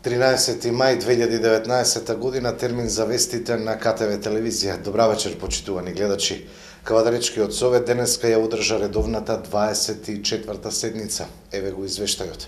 13 мај 2019 година, термин за вестите на КТВ телевизија. Добра вечер, почитувани гледачи. Кавадаречкиот совет денеска ја одржа редовната 24-та седница. Еве го извештајот.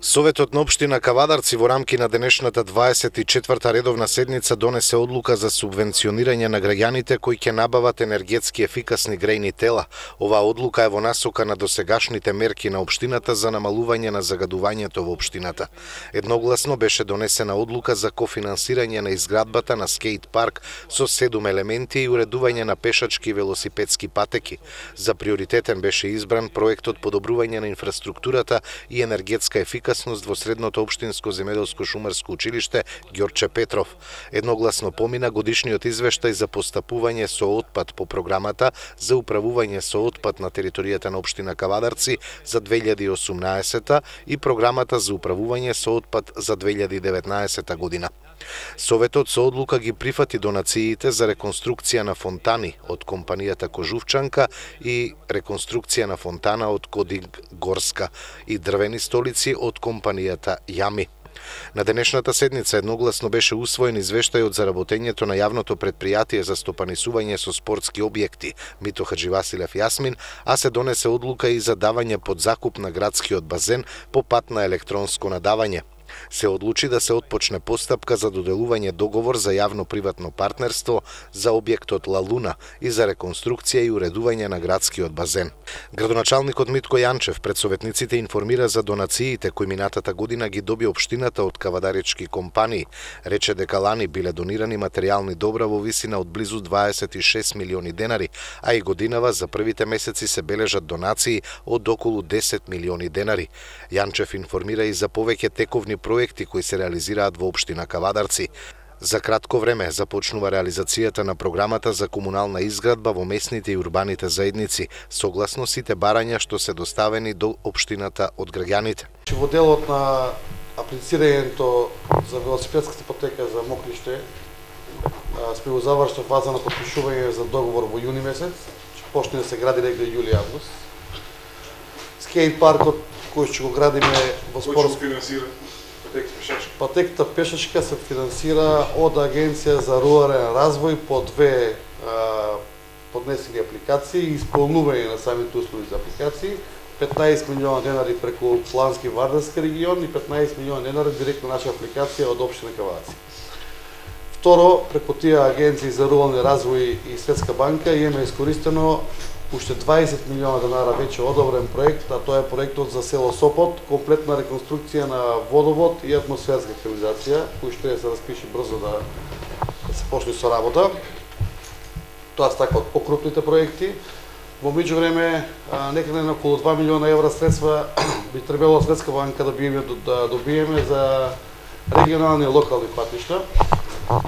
Советот на општина Кавадарци во рамки на денешната 24-та редовна седница донесе одлука за субвенционирање на граѓаните кои ќе набават енергетски ефикасни грејни тела. Оваа одлука е во насока на досегашните мерки на општината за намалување на загадувањето во општината. Едногласно беше донесена одлука за кофинансирање на изградбата на скејт парк со 7 елементи и уредување на пешачки и велосипедски патеки. За приоритетен беше избран проектот подобрување на инфраструктурата и енергетска ефикасност во средното општинско земјоделско шумарско училиште Ѓорче Петров. Едногласно помина годишниот извештај за постапување со отпад по програмата за управување со отпад на територијата на општина Кавадарци за 2018 и програмата за управување со отпад за 2019 година. Советот со одлука ги прифати донациите за реконструкција на фонтани од компанијата Кожувчанка и реконструкција на фонтана од Кодинг Горска и дрвени столици од компанијата Јами. На денешната седница едногласно беше усвоен извештајот за работењето на јавното предпријатие за стопанисување со спортски објекти Мито Хаџивасилев Јасмин, а се донесе одлука и за давање под закуп на градскиот базен по пат на електронско надавање. Се одлучи да се отпочне постапка за доделување договор за јавно-приватно партнерство за објектот Ла Луна и за реконструкција и уредување на градскиот базен. Градоначалникот Митко Јанчев пред советниците информира за донациите кои минатата година ги доби општината од кавадаречки компании. Рече дека лани биле донирани материјални добра во висина од близу 26 милиони денари, а и годинава за првите месеци се бележат донации од околу 10 милиони денари. Јанчев информира и за повеќе тековни проекти кои се реализираат во општина Кавадарци. За кратко време започнува реализацијата на програмата за комунална изградба во местните и урбаните заедници, согласно сите барања што се доставени до општината од граѓаните. Во делот на аплицирањето за велосипедската патека за Мокриште сме во завршна фаза на потпишување за договор во јуни месец, ќе почне да се гради негде јули-август. Скејт паркот кој ќе го градиме во спорт финансира патеката пешачка се финансира од Агенција за рурален развој по две поднесени апликации и исполнување на самите услови за апликации, 15 милиона денари преку Плански Вардарски регион и 15 милиона денари директно наша апликација од општина Кавадарци. Второ, преку тие агенции за рурален развој и Светска банка имаме искористено уште 20 милиона денара веќе одобрен проект, а тоа е проектот за село Сопот, комплетна реконструкција на водовод и атмосферска канализација, кој што се распише брзо да се почне со работа. Тоа се така од покрупните проекти. Во меѓувреме, некаде на околу 2 милиона евра средства би требало Светска банка да добиеме за регионални и локални патишта.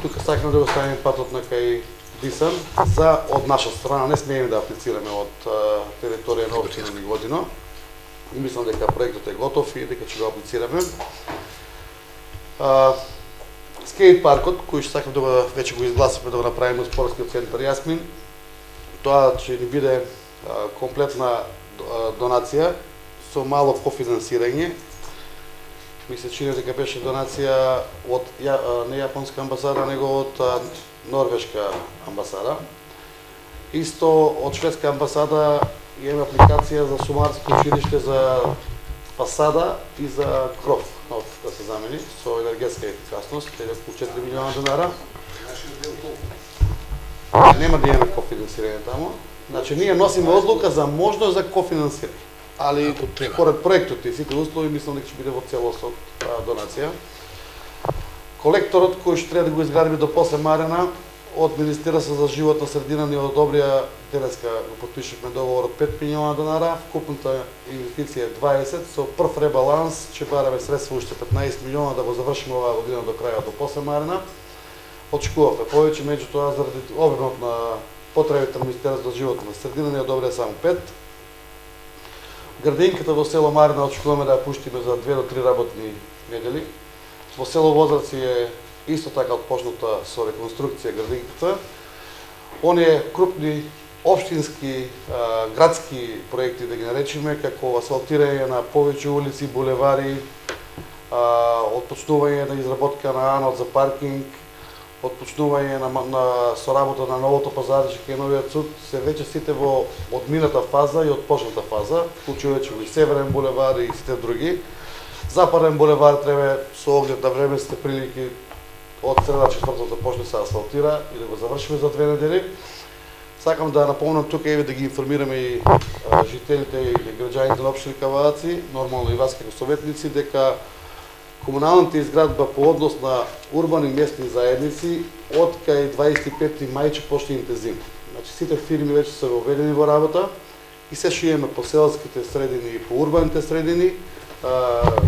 Тука сакаме да го ставиме патот на кај Дисан за од наша страна, не смееме да аплицираме од територија на општина Неготино. Мислам дека проектот е готов и дека ќе го аплицираме. Скејт паркот, кој што сакам да веќе го изгласаме да го направиме од спортскиот центар Јасмин, тоа ќе ни биде комплетна донација со мало кофинансирање. Ми се чини дека беше донација од не јапонска амбасада, него од Норвешка амбасада. Исто од Шведска амбасада имаме апликација за сумарско училиште за фасада и за кров нов да се замени со енергетска ефикасност, околу 4 милиона денара. Нема да имаме кофинансирање таму. Значи ние носиме одлука за можност за кофинансирање. Али според проектот и сите услови мислам дека ќе биде во целост од донација. Колекторот кој што треба да го изградиме до после Марена од Министерство за животна средина ни одобрија, денеска го потпишавме договор од 5 милиона денара, вкупната инвестиција е 20, со прв ребаланс ќе бараме средства уште 15 милиона да го завршиме оваа година до крајот до после Марена. Очекувавме повеќе, меѓутоа заради обемот на потребите на Министерството за животна средина ни одобрија само 5. Градинката во село Марина очекуваме да ја пуштиме за 2 до 3 работни недели. Во село Возраци е исто така отпочната со реконструкција градинката. Оние крупни општински градски проекти да ги наречеме, како асфалтирање на повеќе улици, булевари, отпочнување на изработка на анод за паркинг, отпочнување со работа на новото пазарче кај новиот суд, се веќе сите во одмината фаза и отпочната фаза, вклучувајќи и Северен булевар и сите други. Западен булевар треба со оглед на временските прилики од среда четврток да почне се асфалтира и да го завршиме за 2 недели. Сакам да напомнам тука и да ги информираме и жителите и граѓаните на општина Кавадаци, нормално и вас како советници, дека комуналната изградба по однос на урбани местни заедници од кај 25 мај ќе почне интензивно. Значи сите фирми веќе се воведени во работа и се што имаме по селските средини и по урбаните средини,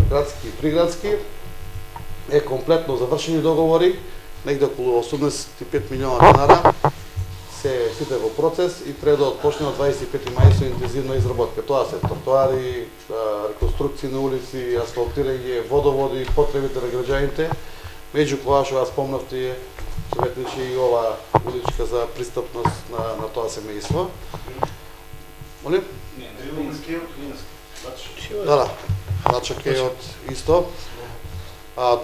градски и приградски, е комплетно завршени договори, негде околу 85 милиона денара, се сите во процес и треба да отпочне од 25 мај со интензивна изработка. Тоа се тротоари, реконструкции на улици, асфалтирање, водоводи, потребите на граѓаните. Меѓу кога што спомнавте, советниче и ова уличка за пристапност на тоа семејство. Молим? Да, Дачак е од исто.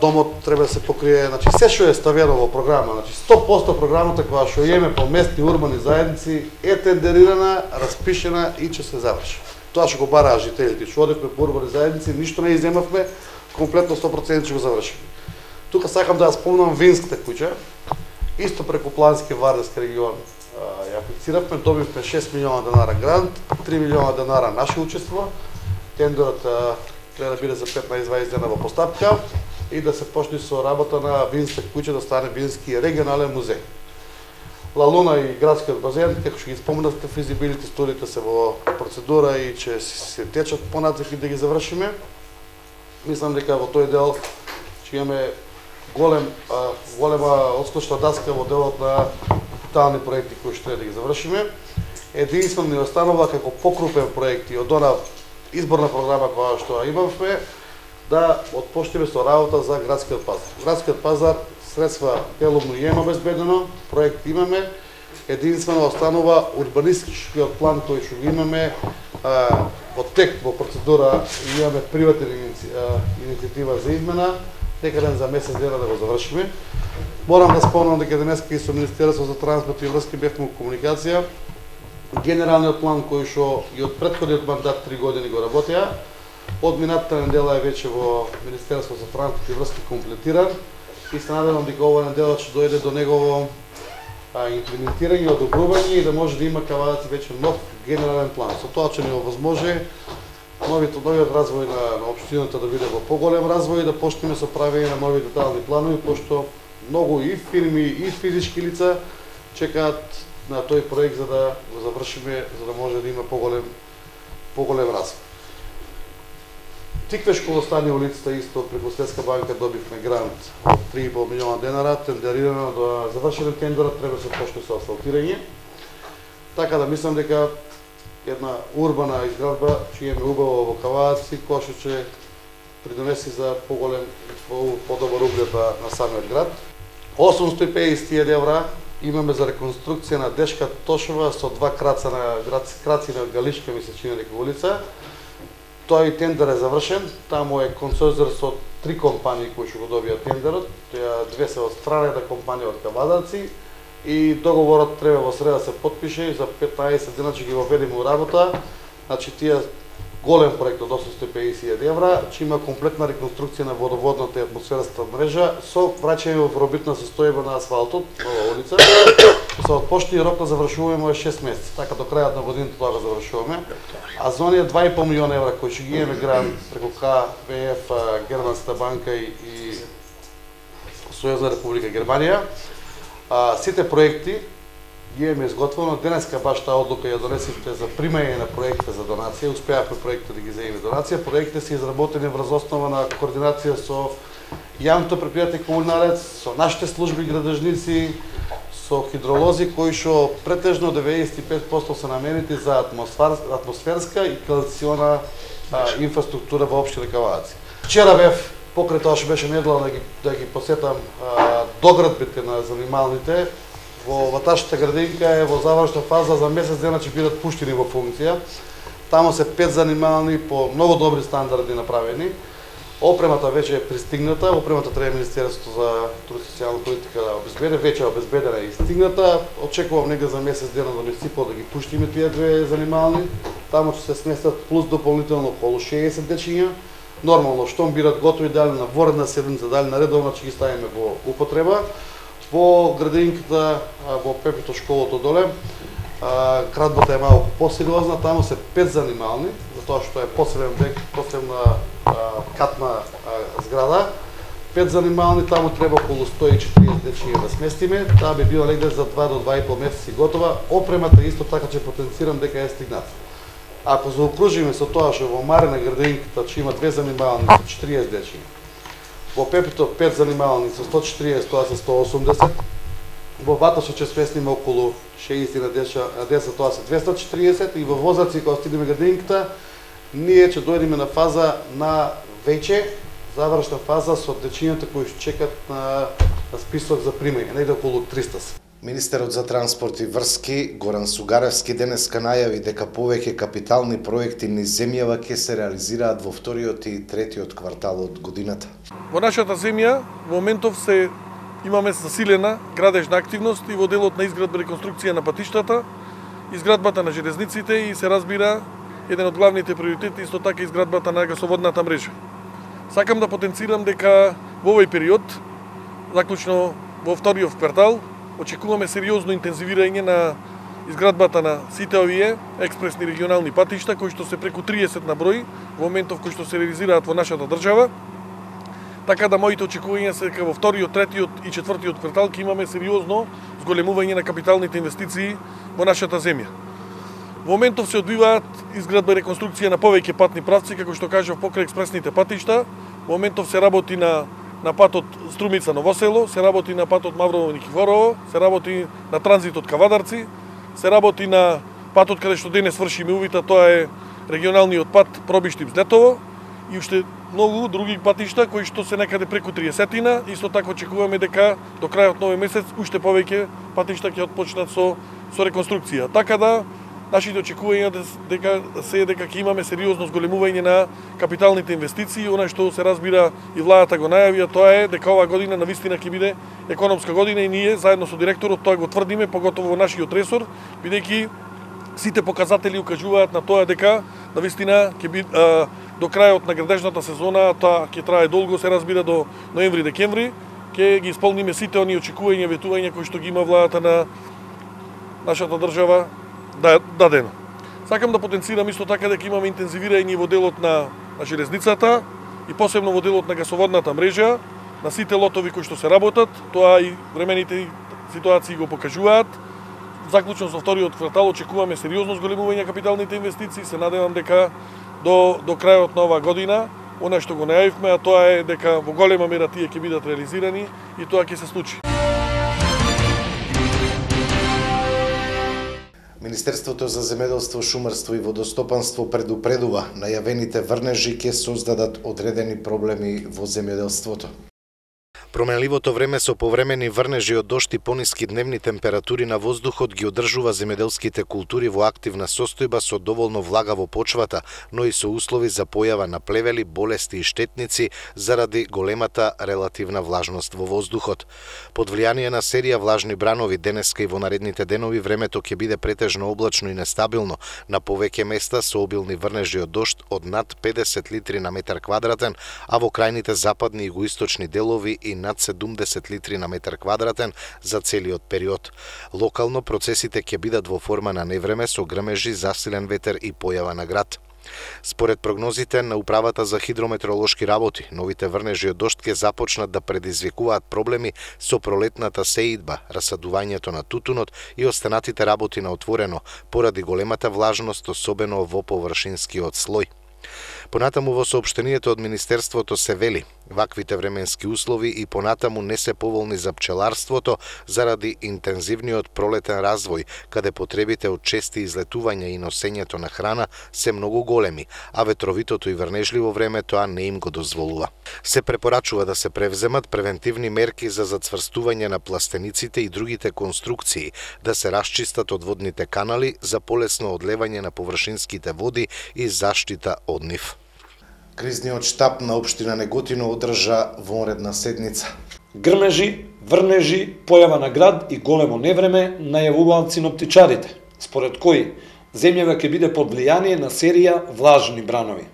Домот треба да се покрие, значи се што е ставено во програма, значи 100% програмата која што имаме по местни урбани заедници е тендерирана, распишена и ќе се заврши. Тоа што го бараа жителите, што одевме по урбани заедници, ништо не иземавме, комплетно 100% ќе го завршиме. Тука сакам да ја спомнам Винската куќа, исто преку Плански Вардарски регион ја аплициравме, добивме 6 милиона денара грант, 3 милиона денара наше учество, тендерот треба да биде за 15-20 дена во постапка и да се почне со работа на Винска куќа да стане Вински регионален музеј. Ла Луна и градскиот базен, како што ги спомнавте, физибилити студиите се во процедура и ќе се течат понатаму да ги завршиме. Мислам дека во тој дел ќе имаме голема отскочна даска во делот на капитални проекти кои што треба да ги завршиме. Единствено ни останува како покрупен проекти од она изборна програма која што имавме, да отпочнеме со работа за градскиот пазар. Градскиот пазар средства делумно има обезбедено, проект имаме, единствено останува урбанистичкиот план кој што имаме во тек, во процедура и имаме приватна иницијатива за измена, некаден за месец дена да го завршиме. Морам да спомнам дека денеска и со Министерство за транспорт и врски бевме во комуникација. Генералниот план кој што и од претходниот мандат 3 години го работеа, од минатата недела е веќе во Министерство за транспорт и врски комплетиран и се надевам дека ова недела ќе дојде до негово имплементирање, одобрување и да може да има Кавадаци веќе нов генерален план. Со тоа ќе ни овозможи новиот развој на општината да биде во поголем развој и да почнеме со правење на нови детални планови, пошто многу и фирми и физички лица чекаат на тој проект за да го завршиме, за да може да има поголем развој. Тиквешко во Стани улицата исто преку Светска банка добивме грант од 3,5 милиона денара, тендерирано до завршен тендерот, треба да се почне со асфалтирање. Така да мислам дека една урбана изградба ќе имаме убаво во Кавадаци, која што ќе придонеси за подобар углед на самиот град. 850.000 евра имаме за реконструкција на Дешка Тошева со 2 краци на Галишка, ми се чини дека улица. Тој тендер е завршен, таму е консорциум со 3 компании кои што го добија тендерот, две се од страната компанија од Кавадаци и договорот треба во среда се потпише и за 15 дена ќе ги воведеме во работа. Значи тие голем проект од 850.000 евра, ќе има комплетна реконструкција на водоводната и атмосферската мрежа со враќање во пробитна состојба на асфалтот, нова улица. Ќе се отпочне рок на завршување е 6 месеци, така до крајот на годината тоа го завршуваме. А за оние 2,5 милиона евра кои ќе ги имаме грант преку КВФ, Германската банка и Сојузна република Германија, сите проекти ги имаме изготвено. Денеска баш таа одлука ја донесивте за примање на проекти за донација, успеавме проектите да ги земеме донација. Проектите се изработени врз основа на координација со јавното претпријатие Комунарец, со нашите служби градежници, со хидролози кои што претежно 95% се наменети за атмосферска и канализациона инфраструктура во општина Кавадаци. Вчера бев покрај тоа што беше недела да ги посетам доградбите на занималните. Во ваташката градинка е во завршна фаза, за месец дена ќе бидат пуштени во функција. Таму се 5 занимални по многу добри стандарди направени. Опремата веќе е пристигната, опремата треба Министерството за труд и социјална политика да обезбеди, веќе е обезбедена и стигната. Очекувам негде за месец дена да ми сипо да ги пуштиме тие две занимални. Таму ќе се сместат плюс дополнително околу 60 дечиња. Нормално, штом бидат готови дали на воредна седмица, дали на редовна, ќе ги ставиме во употреба. Во градинката, во Пепито школото доле, крадбата е малку посериозна, таму се 5 занимални, затоа што е посебна катна зграда. 5 занимални, таму треба околу 140 дечиња да сместиме, таа би била негде за 2 до 2,5 месеци готова. Опремата исто така ќе потенцирам дека е стигната. Ако заокружиме со тоа што во Марина градинката ќе има 2 занимални со 40 дечиња, во Пепито 5 занимални со 140, тоа се 180, во Батоша ќе сместиме околу 60 на деца, тоа се 240, и во Возаци, кога стигнеме градинката, ние ќе дојдеме на фаза на веќе завршна фаза со дечињата кои чекат на список за примање, негде околу 300 се. Министерот за транспорт и врски Горан Сугаревски денеска најави дека повеќе капитални проекти низ земјава ќе се реализираат во вториот и третиот квартал од годината. Во нашата земја во моментов имаме засилена градежна активност и во делот на изградба и реконструкција на патиштата, изградбата на железниците и се разбира еден од главните приоритети исто така изградбата на гасоводната мрежа. Сакам да потенцирам дека во овој период, заклучно во вториот квартал, очекуваме сериозно интензивирање на изградбата на сите овие експресни регионални патишта, кои што се преку 30 на број, во моментов кои што се реализираат во нашата држава. Така да моите очекувања се дека во вториот, третиот и четвртиот квартал ќе имаме сериозно зголемување на капиталните инвестиции во нашата земја. Во моментов се одбиваат изградба и реконструкција на повеќе патни правци, како што кажав, покрај експресните патишта. Во моментов се работи на патот Струмица Ново село, се работи на патот Маврово Никифорово, се работи на транзитот Кавадарци, се работи на патот каде што денес вршиме увита, тоа е регионалниот пат Пробиштип-Здетово, и уште многу други патишта кои што се некаде преку 30-тина. Исто така очекуваме дека до крајот на овој месец уште повеќе патишта ќе отпочнат со реконструкција. Така да нашите очекувања дека ќе имаме сериозно зголемување на капиталните инвестиции. Она што се разбира и владата го најави, тоа е дека оваа година навистина ќе биде економска година и ние заедно со директорот тоа го тврдиме, поготово во нашиот ресор, бидејќи сите показатели укажуваат на тоа дека навистина ќе биде до крајот на градежната сезона, тоа ќе трае долго, се разбира до ноември-декември, ќе ги исполниме сите оние очекувања и ветувања кои што ги има владата на нашата држава дадено. Сакам да потенцирам исто така дека имаме интензивирање во делот на железницата и посебно во делот на гасоводната мрежа, на сите лотови кои што се работат, тоа и времените ситуации го покажуваат. Заклучно со вториот квартал очекуваме сериозно зголемување на капиталните инвестиции, се надевам дека до крајот на оваа година, она што го најавивме, а тоа е дека во голема мера тие ќе бидат реализирани и тоа ќе се случи. Министерството за земјоделство, шумарство и водостопанство предупредува најавените врнежи ќе создадат одредени проблеми во земјоделството. Променливото време со повремени врнежи од дожд и пониски дневни температури на воздухот ги одржува земјоделските култури во активна состојба со доволно влага во почвата, но и со услови за појава на плевели, болести и штетници заради големата релативна влажност во воздухот. Под влијание на серија влажни бранови денеска и во наредните денови времето ќе биде претежно облачно и нестабилно, на повеќе места со обилни врнежи од дожд од над 50 литри на метар квадратен, а во крајните западни и югоисточни делови и над 70 литри на метар квадратен за целиот период. Локално процесите ќе бидат во форма на невреме со грмежи, засилен ветер и појава на град. Според прогнозите на Управата за хидрометеоролошки работи, новите врнежи од дожд ќе започнат да предизвикуваат проблеми со пролетната сеидба, расадувањето на тутунот и останатите работи на отворено, поради големата влажност, особено во површинскиот слој. Понатаму во соопштението од Министерството се вели, ваквите временски услови и понатаму не се поволни за пчеларството заради интензивниот пролетен развој, каде потребите од чести излетувања и носењето на храна се многу големи, а ветровитото и врнежливо време тоа не им го дозволува. Се препорачува да се превземат превентивни мерки за зацврстување на пластениците и другите конструкции, да се расчистат одводните канали за полесно одлевање на површинските води и заштита од нив. Кризниот штаб на општина Неготино одржа вонредна седница. Грмежи, врнежи, појава на град и големо невреме најавуваат синоптичарите, според кои земјава ќе биде под влијание на серија влажни бранови.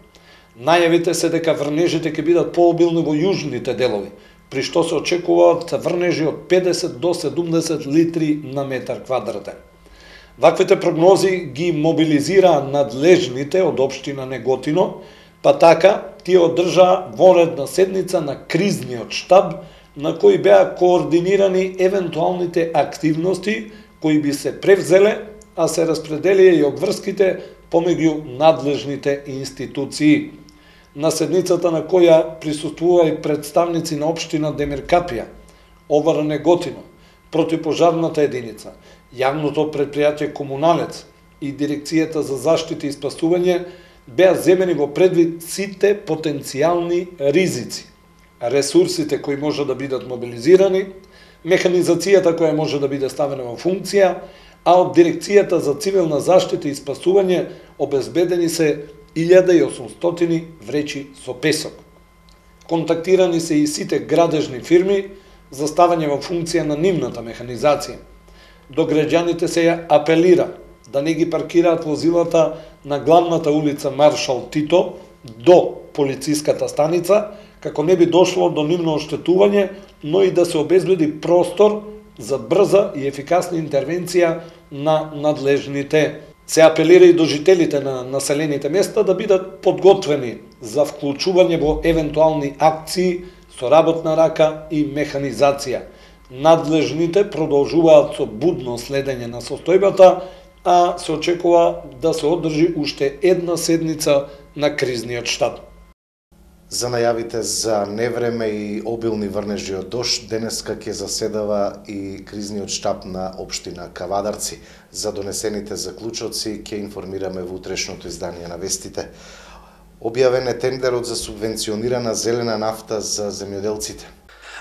Најавите се дека врнежите ќе бидат пообилни во јужните делови, при што се очекуваат врнежи од 50 до 70 литри на метар квадратен. Ваквите прогнози ги мобилизираа надлежните од општина Неготино, па така тие одржаа вонредна седница на кризниот штаб, на кои беа координирани евентуалните активности кои би се превзеле, а се распределија и обврските помеѓу надлежните институции. На седницата на која присуствува и представници на општина Демиркапија, ОВР Неготино, противпожарната единица, јавното предпријатие Комуналец и Дирекцијата за заштита и спасување, беа земени во предвид сите потенцијални ризици, ресурсите кои може да бидат мобилизирани, механизацијата која може да биде ставена во функција, а од Дирекцијата за цивилна заштита и спасување обезбедени се 1800 вречи со песок. Контактирани се и сите градежни фирми за ставање во функција на нивната механизација. До граѓаните се ја апелира да не ги паркираат возилата на главната улица Маршал Тито до полициската станица, како не би дошло до нивно оштетување, но и да се обезбеди простор за брза и ефикасна интервенција на надлежните. Се апелира и до жителите на населените места да бидат подготвени за вклучување во евентуални акции со работна рака и механизација. Надлежните продолжуваат со будно следење на состојбата, а се очекува да се одржи уште една седница на кризниот штаб. За најавите за невреме и обилни врнежи од дожд, денеска ќе заседава и кризниот штаб на општина Кавадарци. За донесените заклучоци ќе информираме во утрешното издание на вестите. Објавен е тендерот за субвенционирана зелена нафта за земјоделците.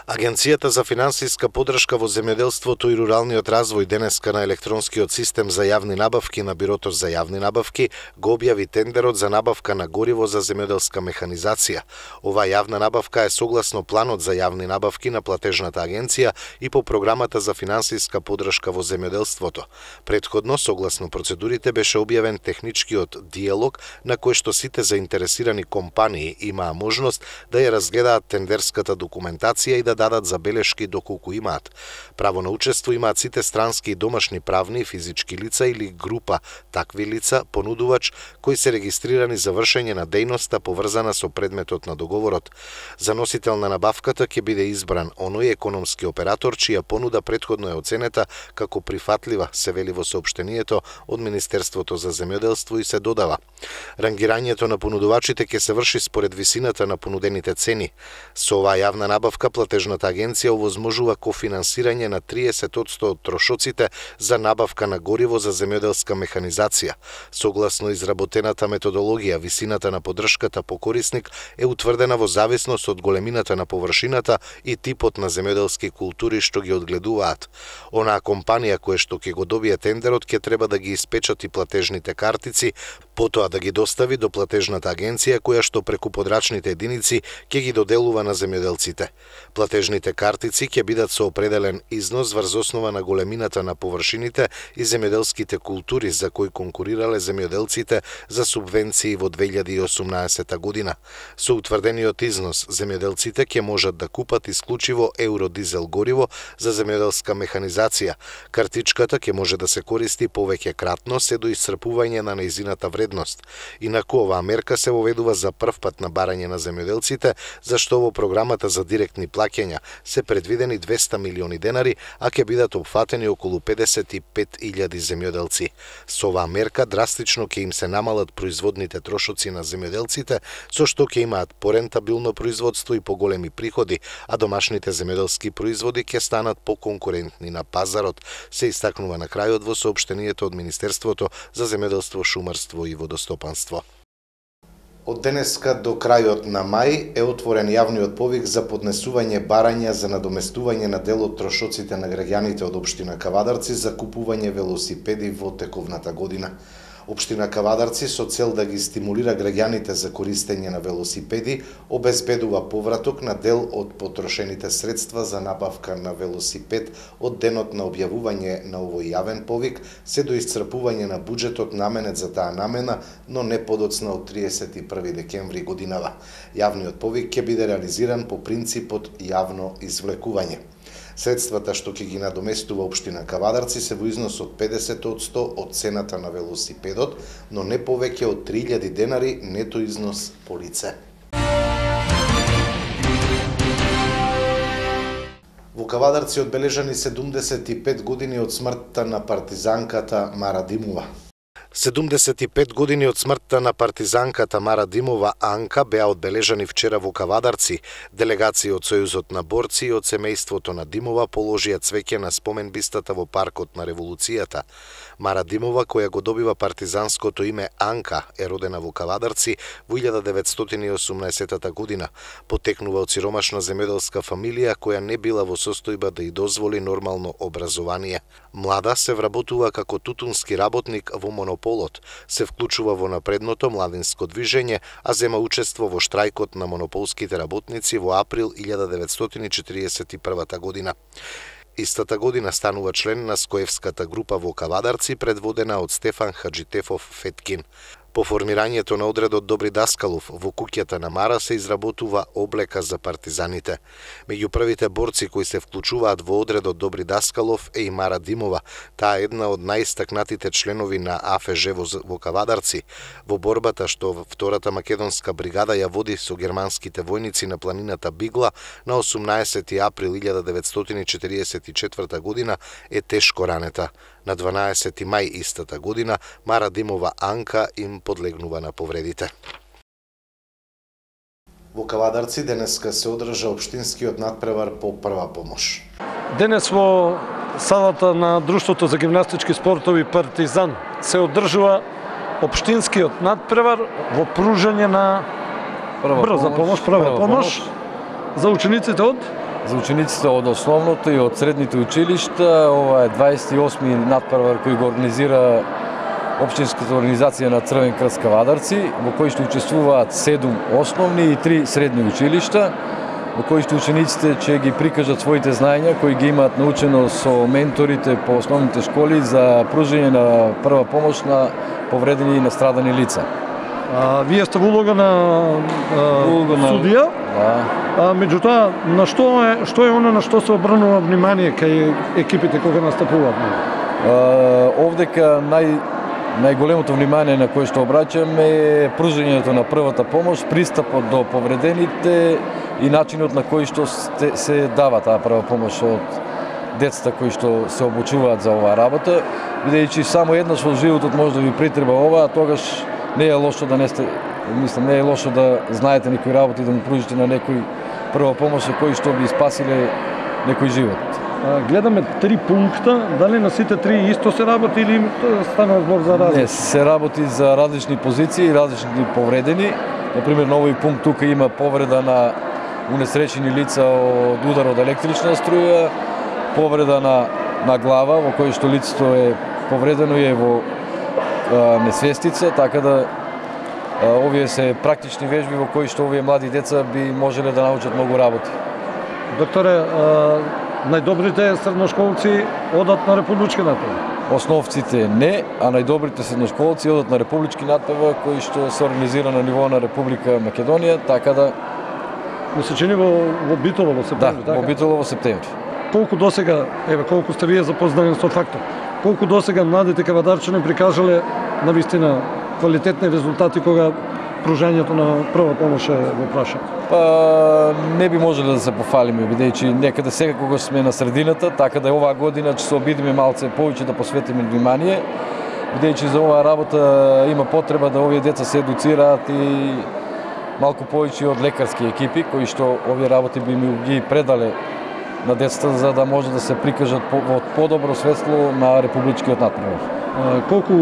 Агенцијата за финансиска поддршка во земјоделството и руралниот развој денеска на електронскиот систем за јавни набавки на Бирото за јавни набавки го објави тендерот за набавка на гориво за земјоделска механизација. Оваа јавна набавка е согласно планот за јавни набавки на платежната агенција и по програмата за финансиска поддршка во земјоделството. Претходно, согласно процедурите, беше објавен техничкиот диалог на кој што сите заинтересирани компании имаа можност да ја разгледаат тендерската документација и да дадат забелешки доколку имаат. Право на учество имаат сите странски и домашни правни и физички лица или група такви лица, понудувач, кои се регистрирани за вршење на дејноста поврзана со предметот на договорот. За носител на набавката ќе биде избран оној економски оператор чија понуда претходно е оценета како прифатлива, се вели во соопштението од Министерството за земјоделство и се додава. Рангирањето на понудувачите ќе се врши според висината на понудените цени. Со оваа јавна набавка платежната агенција овозможува кофинансирање на 30% од трошоците за набавка на гориво за земјоделска механизација. Согласно изработената методологија, висината на поддршката по корисник е утврдена во зависност од големината на површината и типот на земјоделски култури што ги одгледуваат. Онаа компанија која што ќе го добие тендерот ќе треба да ги испечати платежните картици, потоа да ги достави до платежната агенција која што преку подрачните единици ќе ги доделува на земјоделците. Платежните картици ќе бидат со определен износ врз основа на големината на површините и земјоделските култури за кои конкурирале земјоделците за субвенции во 2018 година. Со утврдениот износ, земјоделците ќе можат да купат исклучиво еуродизел гориво за земјоделска механизација. Картичката ќе може да се користи повеќе кратно се до исцрпување на нејзината вредност. Инаку оваа мерка се воведува за прв пат на барање на земјоделците, зашто во програмата за директни плаќања се предвидени 200 милиони денари, а ќе бидат опфатени околу 55.000 земјоделци. Со оваа мерка драстично ќе им се намалат производните трошоци на земјоделците, со што ќе имаат порентабилно производство и поголеми приходи, а домашните земјоделски производи ќе станат поконкурентни на пазарот, се истакнува на крајот во соопштението од Министерството за земјоделство, шумарство и водостопанство. Од денеска до крајот на мај е отворен јавниот повик за поднесување барања за надоместување на дел од трошоците на граѓаните од општина Кавадарци за купување велосипеди во тековната година. Општина Кавадарци со цел да ги стимулира граѓаните за користење на велосипеди, обезбедува повраток на дел од потрошените средства за набавка на велосипед од денот на објавување на овој јавен повик, се до исцрпување на буџетот наменет за таа намена, но не подоцна од 31 декември годинава. Јавниот повик ќе биде реализиран по принципот јавно извлекување. Средствата што ќе ги надоместува Општина Кавадарци се во износ од 50% од цената на велосипедот, но не повеќе од 3000 денари нето износ по лице. Во Кавадарци одбележани 75 години од смртта на партизанката Мара Димова. 75 години од смртта на партизанката Мара Димова Анка беа одбележани вчера во Кавадарци. Делегации од Сојузот на борци и од семејството на Димова положија цвеќе на споменбистата во Паркот на Револуцијата. Мара Димова, која го добива партизанското име Анка, е родена во Кавадарци во 1918 година. Потекнува од сиромашна земјоделска фамилија која не била во состојба да ја дозволи нормално образование. Млада се вработува како тутунски работник во монополот, се вклучува во напредното младинско движење, а зема учество во штрајкот на монополските работници во април 1941 година. Истата година станува член на Скоевската група во Кавадарци, предводена од Стефан Хаджитефов Феткин. По формирањето на одредот Добри Даскалов во куќата на Мара се изработува облека за партизаните. Меѓу првите борци кои се вклучуваат во одредот Добри Даскалов е и Мара Димова. Таа е една од најистакнатите членови на АФЖ во Кавадарци. Во борбата што втората македонска бригада ја води со германските војници на планината Бигла на 18 април 1944 година е тешко ранета. На 12 мај истата година Мара Димова Анка им подлегнува на повредите. Во Кавадарци денеска се одржа општинскиот надпревар по прва помош. Денес во салата на Друштвото за гимнастички спортови Партизан се одржува општинскиот надпревар во пружање на прва помош за учениците од основното и од средните училишта. Ова е 28-ми надпревар кој го организира Општинската организација на Црвен крст Кавадарци, во кој што учествуваат 7 основни и 3 средни училишта, во кој што учениците ќе ги прикажат своите знаења кои ги имаат научено со менторите по основните школи за пружање на прва помош на повредени и настрадани лица. Вие сте во улога на судија, меѓутоа, што е оно на што се обрнува внимание кај екипите кога настапуваат? Овдека најголемото внимание на кое што обраќаме е пружањето на првата помош, пристапот до повредените и начинот на кој што се дава таа прва помош од децата кои што се обучуваат за оваа работа, бидејќи само еднаш во животот може да ви притреба ова, тогаш не е лошо да не е лошо да знаете некои работи и да му пружите на некој прва помош кои што би спасиле некој живот. Гледаме 3 пункта, дали на сите 3 исто се работи или стана збор за различни? Не, се работи за различни позиции и различни повредени. Например, на овој пункт тука има повреда на унесречени лица од удар од електрична струја, повреда на глава, во кој што лицето е повредено и е во несвестица, така да овие се практични вежби во кои што овие млади деца би можеле да научат многу работи. Докторе, најдобрите средношколци одат на републички надпревар? Основците не, а најдобрите средношколци одат на републички надпревар кои што се организира на ниво на Република Македонија, така да ми се чини во Битола во септември, така? Да, во Битола во септември. Колку досега, колку сте вие запознати со фактот, колку досега младите кавадарчани прикажале навистина квалитетни резултати кога пружањето на прва помош е во прашање? Не би можеле да се пофалиме, бидејќи некаде секако сме на средината, така да оваа година ќе се обидиме малце повеќе да посветиме внимание, бидејќи за оваа работа има потреба да овие деца се едуцираат и малку повеќе од лекарски екипи, кои што овие работи би ги предале на децата за да може да се прикажат во подобро светло на републичкиот надпревар. Колку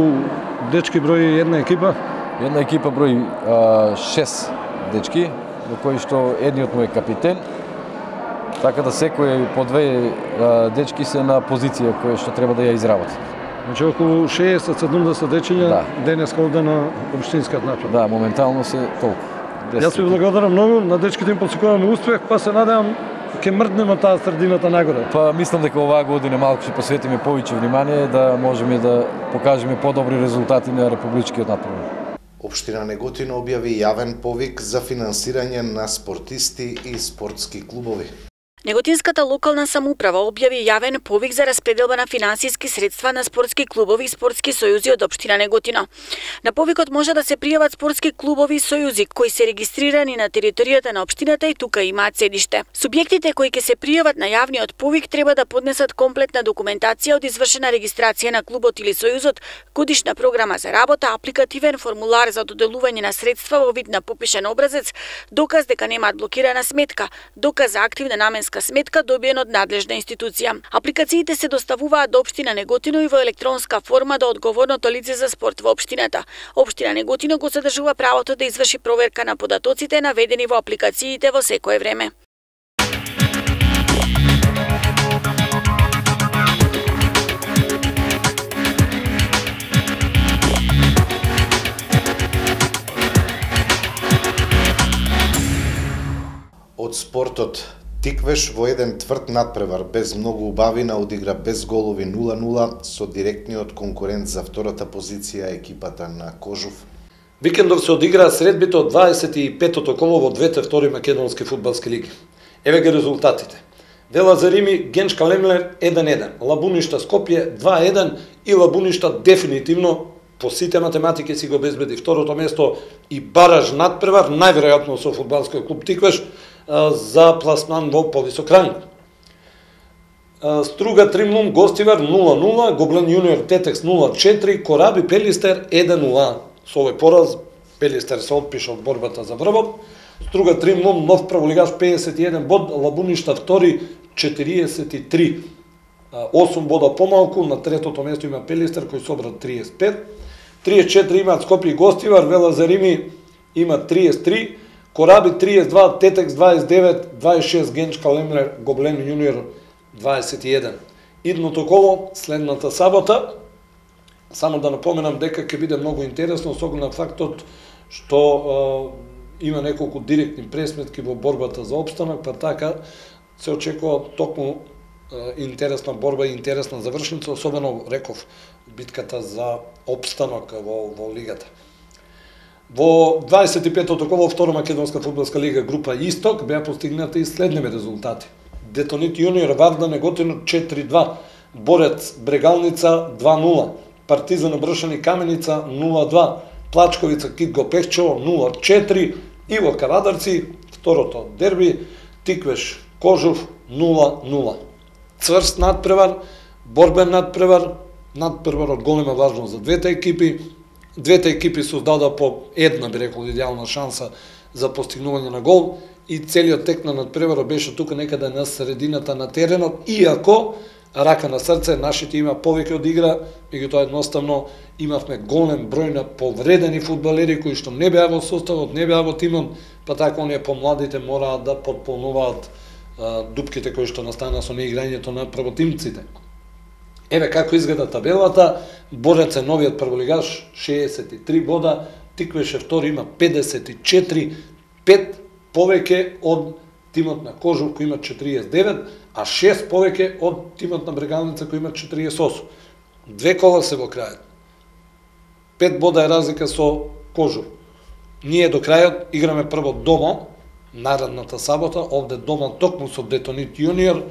дечки брои една екипа? Една екипа брои 6 дечки, во кои што едниот му е капитен, така да секој по 2 дечки се на позиција која што треба да ја изработат. Значи околу 60-70 дечиња денеска овде на општинскиот натпревар. Да, моментално се толку. Јас ви благодарам многу, на дечките им посекуваме успех, па се надевам ќе мрднеме таа средината нагоре. Па мислам дека оваа година малку ќе посветиме повеќе внимание да можеме да покажеме подобри резултати на републичкиот натпревар. Општина Неготино објави јавен повик за финансирање на спортисти и спортски клубови. Неготинската локална самоуправа објави јавен повик за распределба на финансиски средства на спортски клубови и спортски сојузи од општина Неготино. На повикот може да се пријават спортски клубови и сојузи кои се регистрирани на територијата на општината и тука имаат седиште. Субјектите кои ќе се пријават на јавниот повик треба да поднесат комплетна документација од извршена регистрација на клубот или сојузот, годишна програма за работа, апликативен формулар за доделување на средства во вид на попишан образец, доказ дека немаат блокирана сметка, доказ за активна наменска сметка добиен од надлежна институција. Апликациите се доставуваат до општина Неготино и во електронска форма до одговорното лице за спорт во општината. Општина Неготино го задржува правото да изврши проверка на податоците наведени во апликациите во секое време. Од спортот, Тиквеш во еден тврд надпревар без многу убавина одигра без голови 0-0 со директниот конкурент за втората позиција екипата на Кожув. Викендов се одигра средбите од 25-тото коло во двете втори македонски фудбалски лиги. Еве ги резултатите. Вела Зарими Генчка Лемлер 1-1, Лабуништа Скопје 2-1 и Лабуништа дефинитивно по сите математики си го обезбеди второто место и бараж надпревар, најверојатно со фудбалскиот клуб Тиквеш, за пласман во повисок ранг. Струга Тримлум Гостивар 0-0, Гоблен Јуниор Тетекс 0-4, Кораби Пелистер 1-0. Со овој пораз Пелистер се отпиша од борбата за врвот. Струга Тримлум нов прволигаш 51 бод, Лабуништа втори 43. 8 бода помалку, на третото место има Пелистер кој собра 35. 34 имаат Скопје и Гостивар, Вела Зарими има 33, Кораби 32, Тетекс 29, 26 Генчка Лемлер, Гоблен Јуниор 21. Идното коло, следната сабота, само да напоменам дека ќе биде многу интересно со оглед на фактот што има неколку директни пресметки во борбата за опстанок, па така се очекува токму интересна борба и интересна завршница, особено, реков, битката за опстанок во лигата. Во 25-тото коло втора македонска фудбалска лига група Исток беа постигнати и следниве резултати. Детонит Јуниор Варда Неготино 4-2, Борец Брегалница 2-0, Партизан Бршани Каменица 0-2, Плачковица Китго Пехчево 0-4 и во Кавадарци второто дерби Тиквеш Кожув 0-0. Цврст надпревар, борбен надпревар, надпревар од голема важност за двете екипи. Двете екипи создадоа по една, би рекол, идеална шанса за постигнување на гол и целиот тек на надпреварот беше тука некаде на средината на теренот, иако рака на срце нашите има повеќе од игра, меѓутоа едноставно имавме голем број на повредени фудбалери кои што не беа во составот, не беа во тимот, па така оние помладите мораат да потполнуваат дупките кои што настана со неиграњето на првотимците. Еве како изгледа табелата, Борец е новиот прволигаш, 63 бода, Тиквеш е втори, има 54, 5 повеќе од тимот на Кожув кој има 49, а 6 повеќе од тимот на Брегалница кој има 48. Две кола се во крајот. 5 бода е разлика со Кожув. Ние до крајот играме прво дома, наредната сабота, овде дома токму со Детонит Јуниор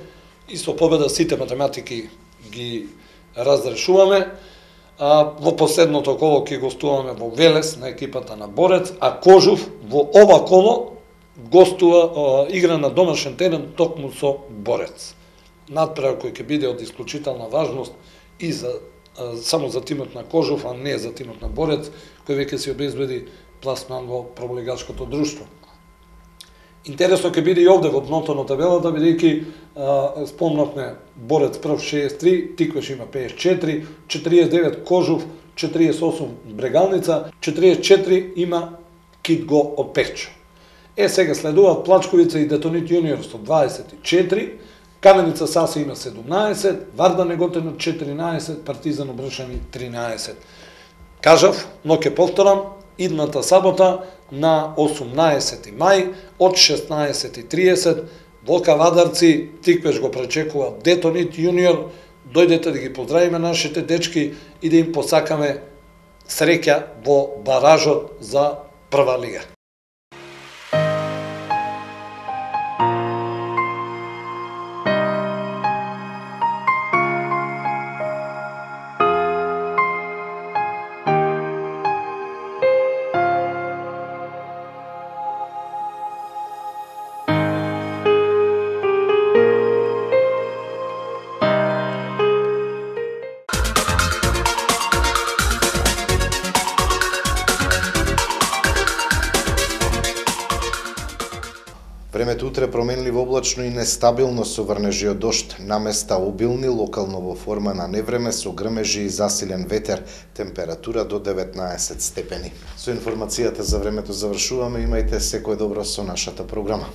и со победа сите математики ги разрешуваме. Во последното коло ќе гостуваме во Велес на екипата на Борец, а Кожув во ова коло гостува игра на домашен терен токму со Борец. Надпревар кој ќе биде од исклучителна важност и само за тимот на Кожув, а не за тимот на Борец, кој веќе си обезбеди пласман во прволигашкото друштво. Интересно ќе биде и овде во дното на табелата, бидејќи спомнавме Борец прв 63, Тиквеш има 54, 49 Кожув, 48 Брегалница, 44 има Китго од Пехчо. Сега следуваат Плачковица и Детонит Јуниор со 24, Каменица Саси има 17, Вардар Неготино 14, Партизан Обршани 13. Кажав, но ќе повторам, идната сабота на 18 мај од 16:30 во Кавадарци Тиквеш го пречекува Детонит јуниор. Дојдете да ги поздравиме нашите дечки и да им посакаме среќа во баражот за прва лига. Времето утре променливо облачно и нестабилно со врнежи од дожд, на места обилни, локално во форма на невреме со грмежи и засилен ветер, температура до 19 степени. Со информацијата за времето завршуваме, имајте секое добро со нашата програма.